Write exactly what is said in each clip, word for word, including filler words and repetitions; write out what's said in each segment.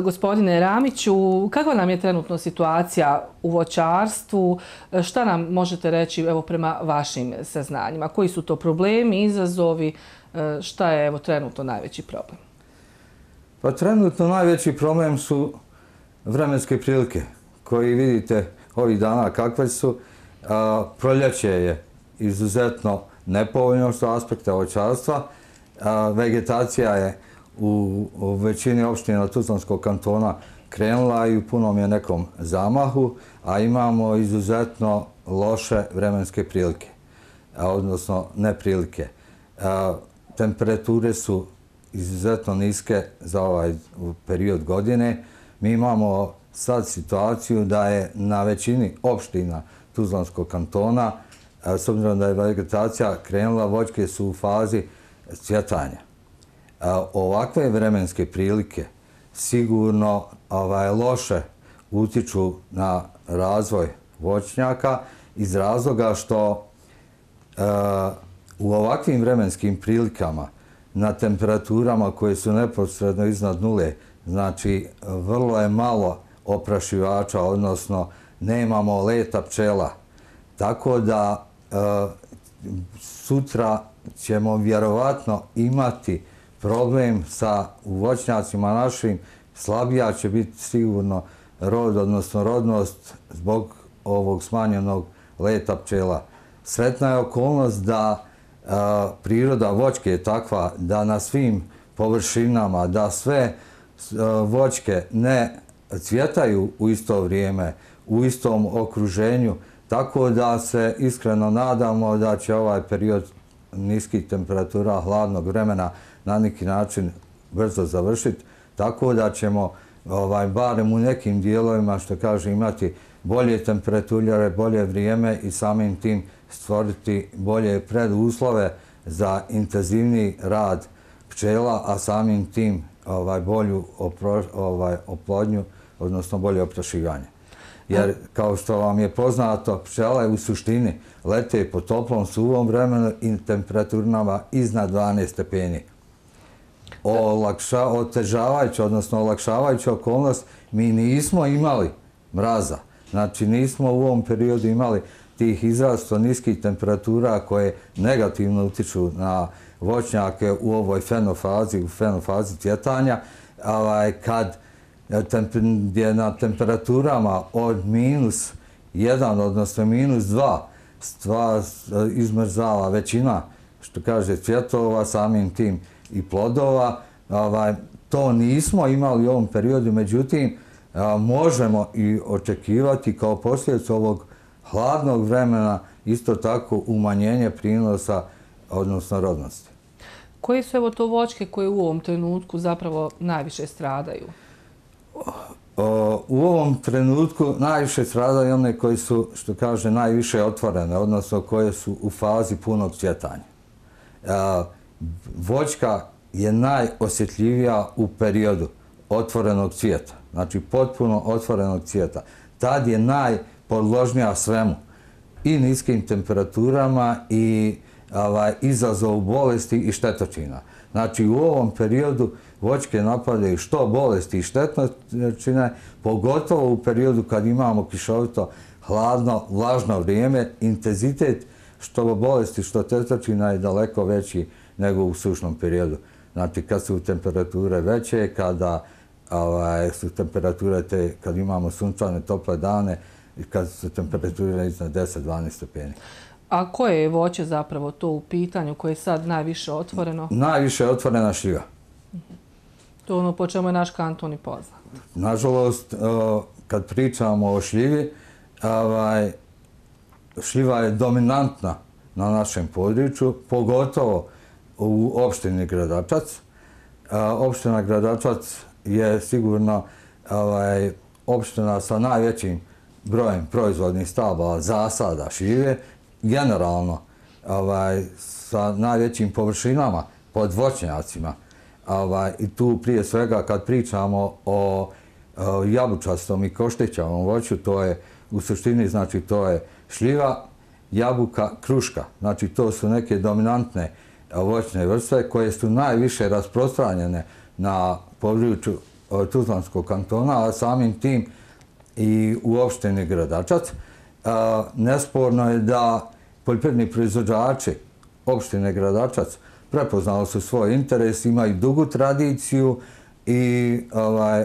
Gospodine Ramiću, kakva nam je trenutno situacija u voćarstvu? Šta nam možete reći evo, prema vašim saznanjima? Koji su to problemi, izazovi? Šta je evo, trenutno najveći problem? Pa trenutno najveći problem su vremenske prilike koji vidite ovih dana kakve su. A, proljeće je izuzetno nepovoljno što aspekta voćarstva. A, vegetacija je u, u većini opština Tuzlanskog kantona krenula i u punom je nekom zamahu, a imamo izuzetno loše vremenske prilike, a, odnosno neprilike. A, temperature su izuzetno niske za ovaj period godine. Mi imamo sad situaciju da je na većini opština Tuzlanskog kantona, s obzirom da je vegetacija krenula, voćke su u fazi cvjetanja. Ovakve vremenske prilike sigurno ovaj, loše utiču na razvoj voćnjaka iz razloga što e, u ovakvim vremenskim prilikama na temperaturama koje su neposredno iznad nule, znači vrlo je malo oprašivača, odnosno nemamo leta pčela. Tako da e, sutra ćemo vjerovatno imati problem sa voćnjacima našim. Slabija će biti sigurno rod, odnosno rodnost zbog ovog smanjenog leta pčela. Sretna je okolnost da a, priroda voćke je takva da na svim površinama, da sve a, voćke ne cvjetaju u isto vrijeme, u istom okruženju, tako da se iskreno nadamo da će ovaj period niskih temperatura, hladnog vremena na neki način brzo završiti, tako da ćemo ovaj, barem u nekim dijelovima, što kaže, imati bolje temperature, bolje vrijeme i samim tim stvoriti bolje preduslove za intenzivniji rad pčela, a samim tim ovaj, bolju opro, ovaj, oplodnju, odnosno bolje oprašivanje. Jer, kao što vam je poznato, pčele u suštini lete po toplom, suvom vremenu i temperaturama iznad dvanaest stepeni. Olakša, otežavajuća, odnosno olakšavajuća okolnost, mi nismo imali mraza. Znači, nismo u ovom periodu imali tih izrazito niskih temperatura koje negativno utiču na voćnjake u ovoj fenofazi, u fenofazi cvjetanja, kad je na temperaturama od minus jedan, odnosno minus dva, stvar izmrzala većina, što kaže, cvjetova, samim tim i plodova. To nismo imali u ovom periodu, međutim, možemo i očekivati kao posljedicu ovog hladnog vremena isto tako umanjenje prinosa, odnosno rodnosti. Koje su evo to voćke koje u ovom trenutku zapravo najviše stradaju? U ovom trenutku najviše stradaju one koje su, što kaže, najviše otvorene, odnosno koje su u fazi punog cvjetanja. Voćka je najosjetljivija u periodu otvorenog cvjeta, znači potpuno otvorenog cvjeta. Tad je najpodložnija svemu, i niskim temperaturama i ovaj, izazovu bolesti i štetočina. Znači, u ovom periodu voćke napadaju što bolesti i štetočine, pogotovo u periodu kad imamo kišovito, hladno, vlažno vrijeme, intenzitet što bolesti, što štetočina je daleko veći nego u sušnom periodu. Znači, kad su temperature veće, kada ovaj, su temperature te, kad imamo sunčane, tople dane, i kad su temperature iznad deset do dvanaest stepeni. A koje je voće zapravo to u pitanju koje je sad najviše otvoreno? Najviše je otvorena šljiva. To je ono po čemu je naš kanton i poznat. Nažalost, kad pričamo o šljivi, ovaj, šljiva je dominantna na našem području, pogotovo u opštini Gradačac. Opština Gradačac je sigurno ovaj, opština sa najvećim brojem proizvodnih stabala zasada šljive, generalno ovaj, sa najvećim površinama pod voćnjacima. Ovaj, I tu prije svega kad pričamo o, o jabučastom i koštićavom voću, to je u suštini, znači to je šljiva, jabuka, kruška. Znači to su neke dominantne voćne vrste koje su najviše rasprostranjene na području Tuzlanskog kantona, a samim tim i u opštini Gradačac. Nesporno je da poljoprivredni proizvođači opštine Gradačac prepoznali su svoj interes, imaju dugu tradiciju i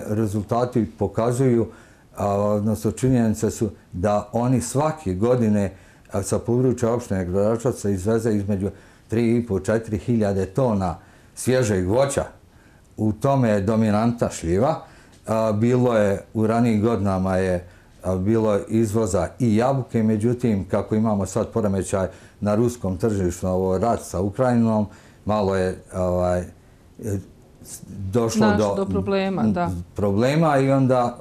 rezultati pokazuju, odnosno činjenice su da oni svake godine sa područja opštine Gradačac izveze između tri i po do četiri hiljade tona svježeg voća. U tome je dominanta šljiva. Bilo je, u ranijim godinama je bilo izvoza i jabuke, međutim, kako imamo sad poremećaj na ruskom tržištu, ovo rat sa Ukrajinom, malo je došlo do problema, da. problema i onda,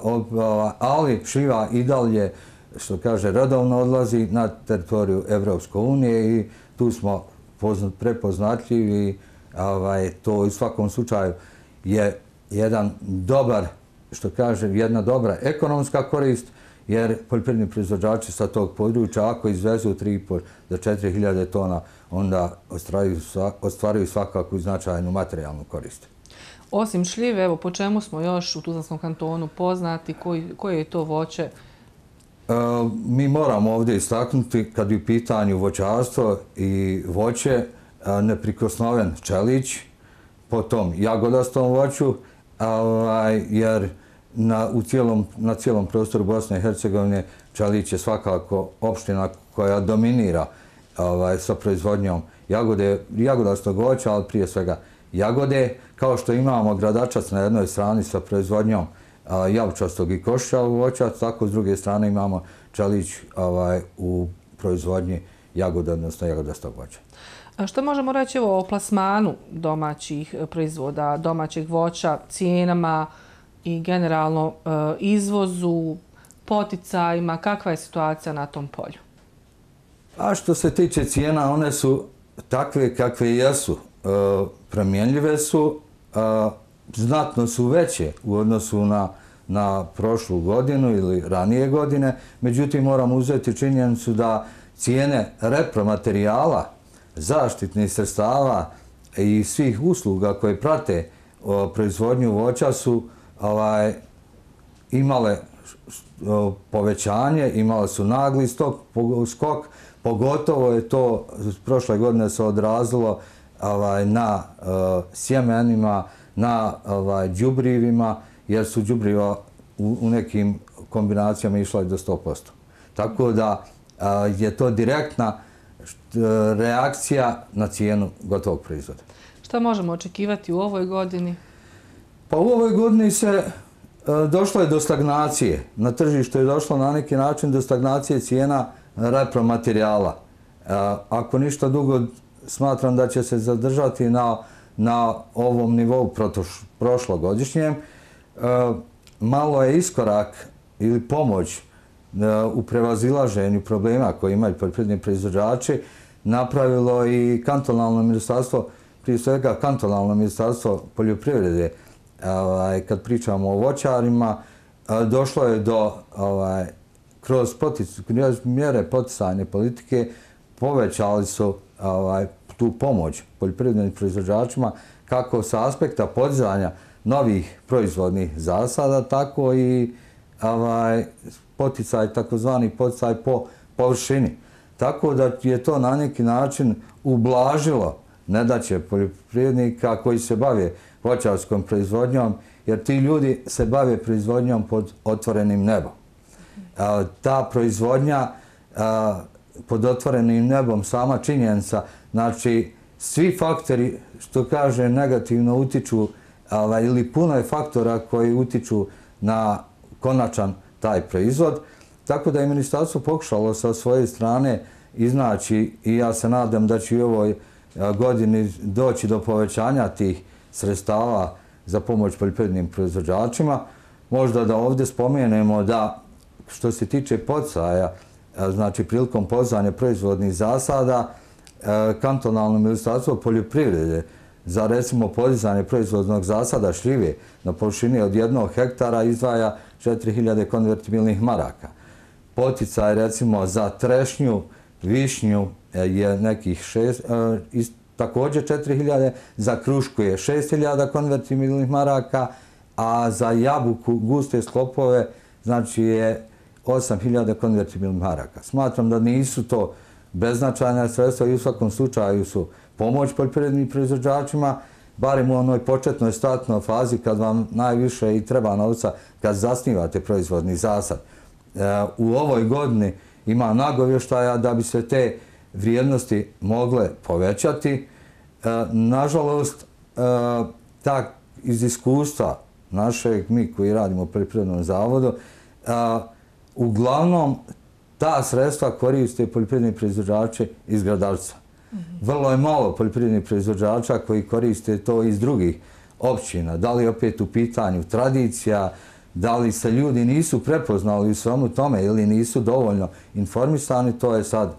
ali šljiva i dalje, što kaže, redovno odlazi na teritoriju Evropske unije i tu smo prepoznatljivi. To u svakom slučaju je jedan dobar, što kaže, jedna dobra ekonomska korist, jer poljoprivredni proizvođači sa tog područja, ako izvezu tri i po do četiri hiljade tona, onda ostvaruju svakako i značajnu materijalnu korist. Osim šljive, evo, po čemu smo još u Tuzlanskom kantonu poznati, koje je to voće? Mi moramo ovdje istaknuti, kad je u pitanju voćarstvo i voće, neprikosnoven čelić, potom jagodastom voću, jer na cijelom prostoru Bosne i Hercegovine čelić je svakako opština koja dominira sa proizvodnjom jagodastog voća, ali prije svega jagode, kao što imamo Gradačac na jednoj strani sa proizvodnjom jabučastog i košičavog voća, tako s druge strane imamo čelić u proizvodnji jagode, odnosno jagodastog voća. Što možemo reći o plasmanu domaćih proizvoda, domaćeg voća, cijenama i generalno izvozu, poticajima? Kakva je situacija na tom polju? A što se tiče cijena, one su takve kakve jesu. Promjenljive su, znatno su veće u odnosu na prošlu godinu ili ranije godine. Međutim, moramo uzeti činjenicu da cijene repromaterijala, zaštitnih sredstava i svih usluga koje prate proizvodnju voća su imale povećanje, imale su nagli skok, pogotovo je to prošle godine se odrazilo na sjemenima, na đubrivima, jer su đubriva u nekim kombinacijama išla i do sto posto. Tako da je to direktna reakcija na cijenu gotovog proizvoda. Šta možemo očekivati u ovoj godini? Pa u ovoj godini se došlo je do stagnacije. Na tržištu je došlo na neki način do stagnacije cijena repromaterijala. Ako ništa dugo, smatram da će se zadržati na ovom nivou prošlogodišnjem. Malo je iskorak ili pomoć u prevazilaženju problema koje imaju poljoprivredni proizvođači napravilo i kantonalno ministarstvo, prije svega kantonalno ministarstvo poljoprivrede. Kad pričamo o voćarima, došlo je do, kroz mjere poticajne politike, povećali su tu pomoć poljoprivrednim proizvođačima kako sa aspekta podizanja novih proizvodnih zasada, tako i poticaj, takozvani poticaj po površini. Tako da je to na neki način ublažilo nedaće poljoprivrednika koji se bave voćarskom proizvodnjom, jer ti ljudi se bave proizvodnjom pod otvorenim nebom. Ta proizvodnja pod otvorenim nebom, sama činjenica, znači svi faktori, što kaže, negativno utiču, ili puno je faktora koji utiču na konačan taj proizvod. Tako da je ministarstvo pokušalo sa svoje strane iznaći, i ja se nadam da će u ovoj godini doći do povećanja tih sredstava za pomoć poljoprivrednim proizvođačima. Možda da ovdje spomenemo da što se tiče poticaja, znači prilikom podizanja proizvodnih zasada, kantonalno ministarstvo poljoprivrede za recimo podizanje proizvodnog zasada šljive na površini od jednog hektara izdvaja četiri hiljade konvertibilnih maraka. Poticaj recimo za trešnju, višnju je nekih šest, također četiri hiljade, za krušku je šest hiljada konvertibilnih maraka a za jabuku guste sklopove znači je osam hiljada konvertibilnih maraka. Smatram da nisu to beznačajna sredstva i u svakom slučaju su pomoć poljoprivrednim proizvođačima, barem u onoj početnoj startnoj fazi kad vam najviše i treba novca kad zasnivate proizvodni zasad. U ovoj godini ima nagovještaja da bi se te vrijednosti mogle povećati. Nažalost, tak iz iskustva našeg, mi koji radimo u poljoprivrednom zavodu, uglavnom ta sredstva koriste poljoprivredni proizvođači iz Gradarca. Vrlo je malo poljoprivrednih proizvođača koji koriste to iz drugih općina. Da li opet u pitanju tradicija, da li se ljudi nisu prepoznali u svemu tome ili nisu dovoljno informisani, to je sad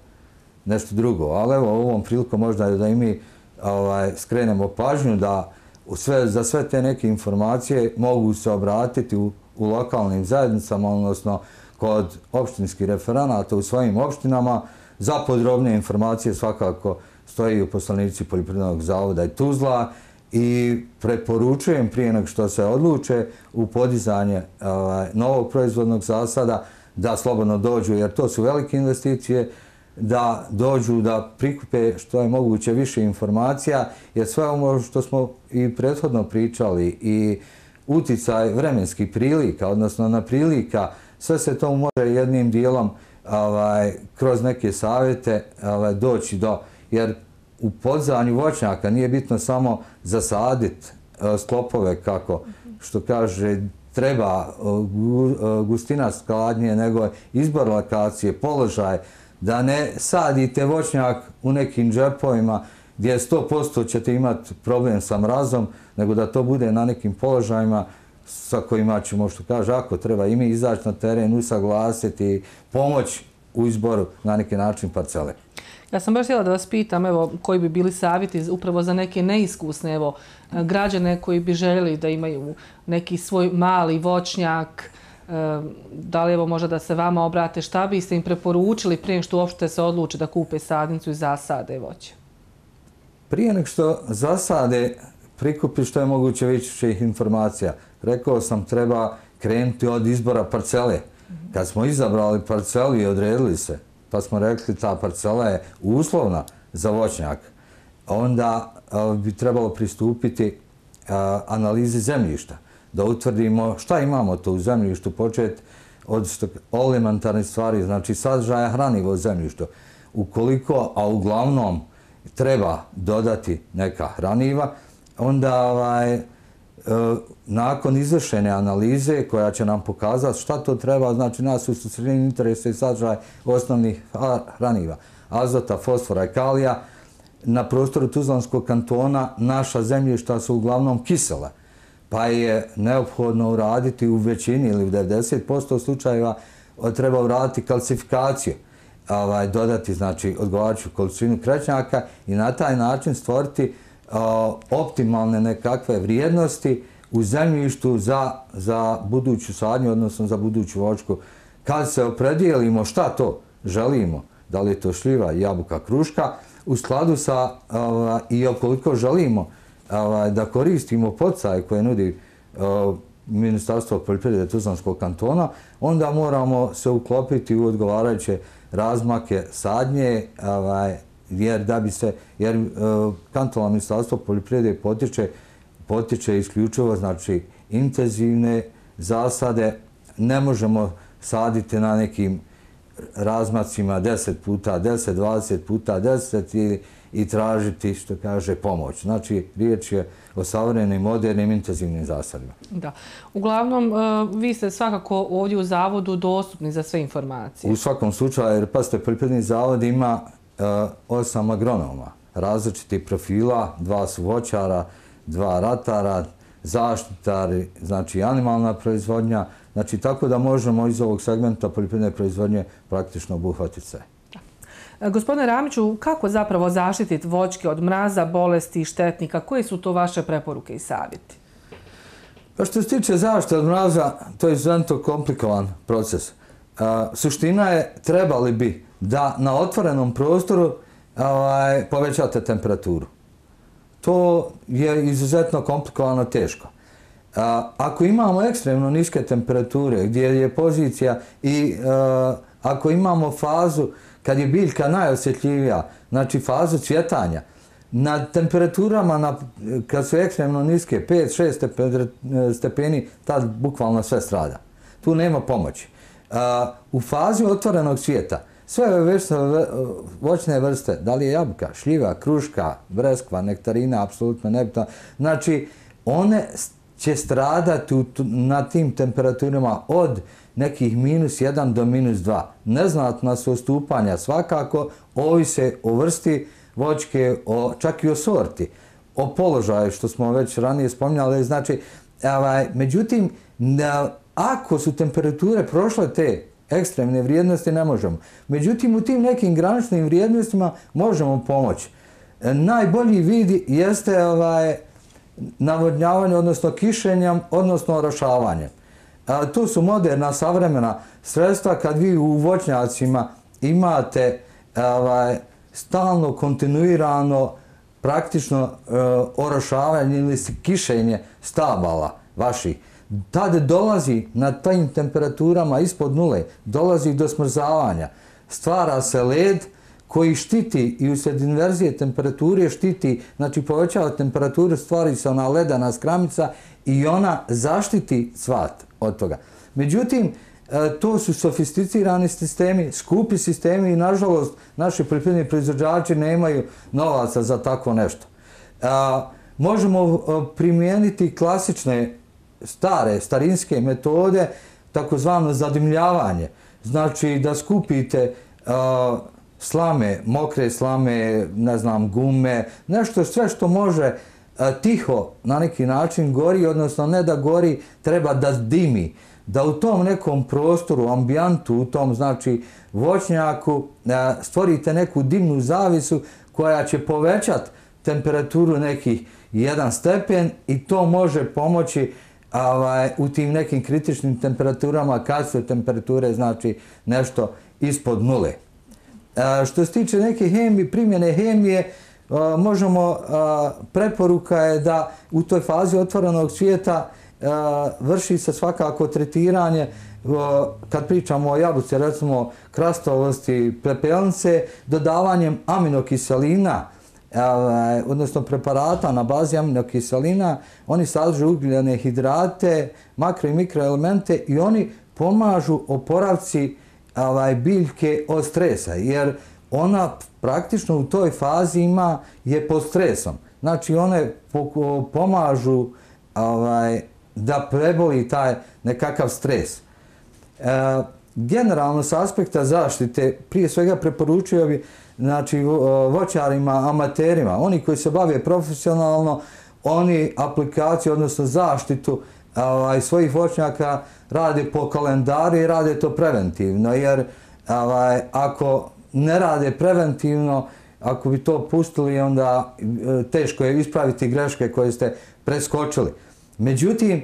nešto drugo. Ali evo, ovom prilikom možda da i mi ovaj, skrenemo pažnju da sve, za sve te neke informacije mogu se obratiti u, u lokalnim zajednicama, odnosno kod opštinskih referenata u svojim opštinama. Za podrobnije informacije svakako stoji u poslanici Poljoprivrednog zavoda i Tuzla i preporučujem prije nego što se odluče u podizanje ovaj, novog proizvodnog zasada da slobodno dođu, jer to su velike investicije, da dođu da prikupe što je moguće više informacija, jer sve ovo što smo i prethodno pričali i uticaj vremenskih prilika, odnosno na prilika, sve se to može jednim dijelom ovaj, kroz neke savjete ovaj, doći do, jer u podizanju voćnjaka nije bitno samo zasaditi sklopove kako što kaže treba gustina skladnje, nego izbor lokacije, položaj, da ne sadite voćnjak u nekim džepovima gdje sto posto ćete imati problem sa mrazom, nego da to bude na nekim položajima sa kojima ćemo, što kaže, ako treba i mi izaći na teren, usaglasiti, pomoć u izboru na neki način parcele. Ja sam baš htjela da vas pitam, evo, koji bi bili savjeti upravo za neke neiskusne, evo, građane koji bi željeli da imaju neki svoj mali voćnjak, da li evo možda da se vama obrate, šta biste im preporučili prije što uopšte se odluče da kupe sadnicu i zasade voće? Prije nego što zasade, prikupi što je moguće više informacija. Rekao sam, treba krenuti od izbora parcele. Kad smo izabrali parcelu i odredili se, pa smo rekli ta parcela je uslovna za voćnjak, onda bi trebalo pristupiti analizi zemljišta, da utvrdimo šta imamo to u zemljištu, početi od elementarnih stvari, znači sadržaja hraniva u zemljištu. Ukoliko, a uglavnom treba dodati neka hraniva, onda ovaj, nakon izvršene analize koja će nam pokazati šta to treba, znači nas u sredini interesa i sadržaj osnovnih hraniva, azota, fosfora i kalija. Na prostoru Tuzlanskog kantona naša zemljišta su uglavnom kisela, pa je neophodno uraditi u većini ili u devedeset posto slučajeva treba uraditi kalcifikaciju, ovaj, dodati znači odgovarajuću količinu krećnjaka i na taj način stvoriti optimalne nekakve vrijednosti u zemljištu za, za buduću sadnju, odnosno za buduću voćku. Kad se opredijelimo šta to želimo, da li je to šljiva, jabuka, kruška, u skladu sa uh, i okoliko želimo uh, da koristimo poticaje koje nudi uh, Ministarstvo poljoprivrede Tuzlanskog kantona, onda moramo se uklopiti u odgovarajuće razmake sadnje, uh, jer da bi se, jer uh, kantonalno Ministarstvo poljoprivrede potiče, potiče isključivo znači intenzivne zasade, ne možemo saditi na nekim razmacima deset puta deset, dvadeset puta deset i, i tražiti, što kaže, pomoć. Znači, riječ je o savremenim, modernim, intenzivnim zasadima. Da. Uglavnom, vi ste svakako ovdje u zavodu dostupni za sve informacije. U svakom slučaju, jer pazite, poljoprivredni zavod ima osam agronoma različitih profila, dva su voćara, dva ratara, zaštitari, znači animalna proizvodnja, znači tako da možemo iz ovog segmenta poljoprivredne proizvodnje praktično obuhvatiti sve. Gospodine Ramiću, kako zapravo zaštititi voćke od mraza, bolesti i štetnika? Koje su to vaše preporuke i savjeti? Pa što se tiče zaštite od mraza, to je izuzetno komplikovan proces. Suština je, trebali bi da na otvorenom prostoru povećate temperaturu. To je izuzetno komplikovano, teško. Ako imamo ekstremno niske temperature gdje je pozicija i ako imamo fazu kad je biljka najosjetljivija, znači fazu cvjetanja, na temperaturama na, kad su ekstremno niske, pet šest stepeni, tad bukvalno sve strada. Tu nema pomoći. U fazi otvorenog cvijeta, sve ove vrste, voćne vrste, da li je jabuka, šljiva, kruška, breskva, nektarina, apsolutno nebitno, znači one će stradati na tim temperaturama od nekih minus jedan do minus dva. Neznatna su odstupanja svakako, ovise o vrsti voćke, o, čak i o sorti, o položaju što smo već ranije spominjali. Znači, ovaj, međutim, ako su temperature prošle te ekstremne vrijednosti, ne možemo. Međutim, u tim nekim graničnim vrijednostima možemo pomoći. Najbolji vid jeste ovaj, navodnjavanje, odnosno kišenjem, odnosno orošavanjem. To su moderna, savremena sredstva kad vi u voćnjacima imate ovaj, stalno, kontinuirano, praktično uh, orošavanje ili kišenje stabala vaših. Tada dolazi na tim temperaturama ispod nule, dolazi do smrzavanja. Stvara se led koji štiti i usred inverzije temperature štiti, znači povećava temperaturu, stvori se ona ledana skramica i ona zaštiti cvat od toga. Međutim, to su sofisticirani sistemi, skupi sistemi i nažalost naši poljoprivredni proizvođači nemaju novaca za tako nešto. Možemo primijeniti klasične, stare, starinske metode, takozvano zadimljavanje. Znači da skupite slame, mokre slame, ne znam, gume, nešto sve što može tiho na neki način gori, odnosno ne da gori, treba da dimi. Da u tom nekom prostoru, ambijantu, u tom znači voćnjaku stvorite neku dimnu zavisu koja će povećati temperaturu nekih jedan stepen i to može pomoći ovaj, u tim nekim kritičnim temperaturama kad su temperature znači nešto ispod nule. A, što se tiče neke hemije, primjene hemije, a, možemo, a, preporuka je da u toj fazi otvorenog cvijeta vrši se svakako tretiranje, kad pričamo o jabuci, recimo krastovosti, pepelnice, dodavanjem aminokiselina, odnosno preparata na bazi aminokiselina. Oni sadrže ugljene hidrate, makro i mikroelemente i oni pomažu oporavci biljke od stresa, jer ona praktično u toj fazi ima, je pod stresom. Znači one pomažu ovaj, da preboli taj nekakav stres. E, generalno, s aspekta zaštite, prije svega preporučio bi znači, voćarima, amaterima, oni koji se bave profesionalno, oni aplikaciju, odnosno zaštitu ovaj, svojih voćnjaka rade po kalendaru i rade to preventivno, jer ovaj, ako ne rade preventivno, ako bi to pustili, onda teško je ispraviti greške koje ste preskočili. Međutim,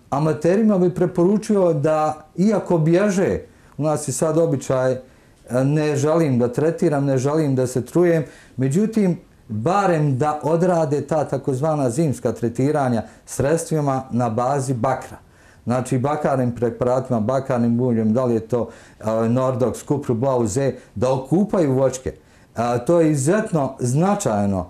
amaterima bi preporučio da, iako bježe, u nas je sad običaj, ne želim da tretiram, ne želim da se trujem, međutim, barem da odrade ta takozvana zimska tretiranja sredstvima na bazi bakra. Znači, bakarnim preparatima, bakarnim buljem, da li je to Nordox, Kupru, Blau Z, da okupaju voćke. To je izuzetno značajno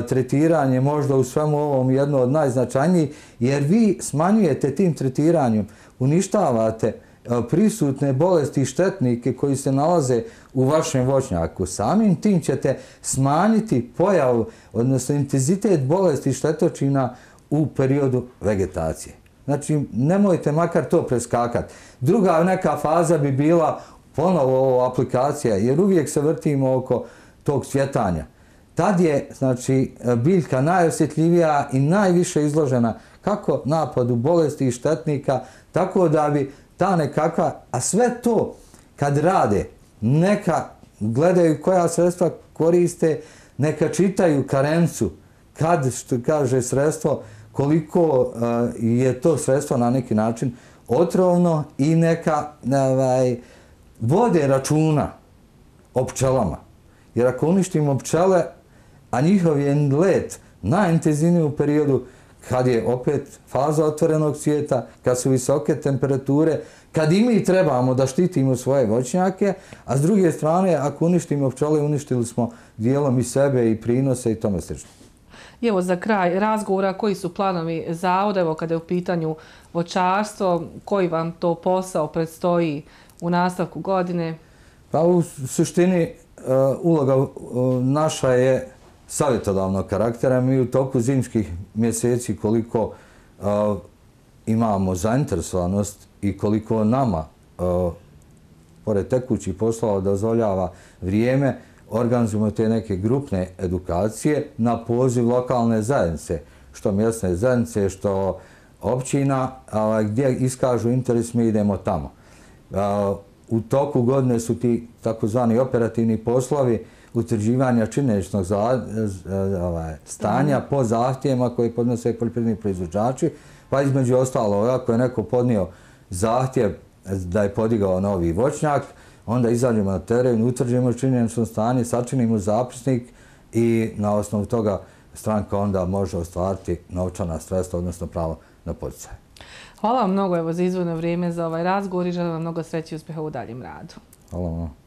tretiranje, možda u svemu ovom jedno od najznačajnijih, jer vi smanjujete tim tretiranjem, uništavate prisutne bolesti i štetnike koji se nalaze u vašem voćnjaku. Samim tim ćete smanjiti pojavu, odnosno intenzitet bolesti i štetočina u periodu vegetacije. Znači, nemojte makar to preskakati. Druga neka faza bi bila ponovo ovo aplikacija, jer uvijek se vrtimo oko tog cvjetanja. Tad je, znači, biljka najosjetljivija i najviše izložena kako napadu bolesti i štetnika, tako da bi ta nekakva, a sve to kad rade, neka gledaju koja sredstva koriste, neka čitaju karencu, kad, što kaže sredstvo, koliko uh, je to sredstvo na neki način otrovno i neka ovaj, vode računa o pčelama. Jer ako uništimo pčele, a njihov je let najintenzivniji u periodu kad je opet faza otvorenog cvijeta, kad su visoke temperature, kad i mi trebamo da štitimo svoje voćnjake, a s druge strane, ako uništimo pčele, uništili smo dijelom i sebe i prinose i tome slično. I evo za kraj razgovora, koji su planovi zavoda, evo kada je u pitanju voćarstvo, koji vam to posao predstoji u nastavku godine? Pa u suštini uloga naša je savjetodavnog karaktera. Mi u toku zimskih mjeseci koliko imamo zainteresovanost i koliko nama, pored tekućih poslova, dozvoljava vrijeme, organizujemo te neke grupne edukacije na poziv lokalne zajednice, što mjesne zajednice, što općina, gdje iskažu interes, mi idemo tamo. U toku godine su ti takozvani operativni poslovi utvrđivanja činjeničnog stanja po zahtjevima koje podnose poljoprivredni proizvođači, pa između ostalo, ako je neko podnio zahtjev da je podigao novi voćnjak, onda izađemo na teren, utvrđujemo činjenično stanje, sačinimo zapisnik i na osnovu toga stranka onda može ostvariti novčana sredstva, odnosno pravo na poticaj. Hvala vam mnogo evo, za izdvojeno vrijeme za ovaj razgovor i želim vam mnogo sreće i uspjeha u daljem radu. Hvala vam.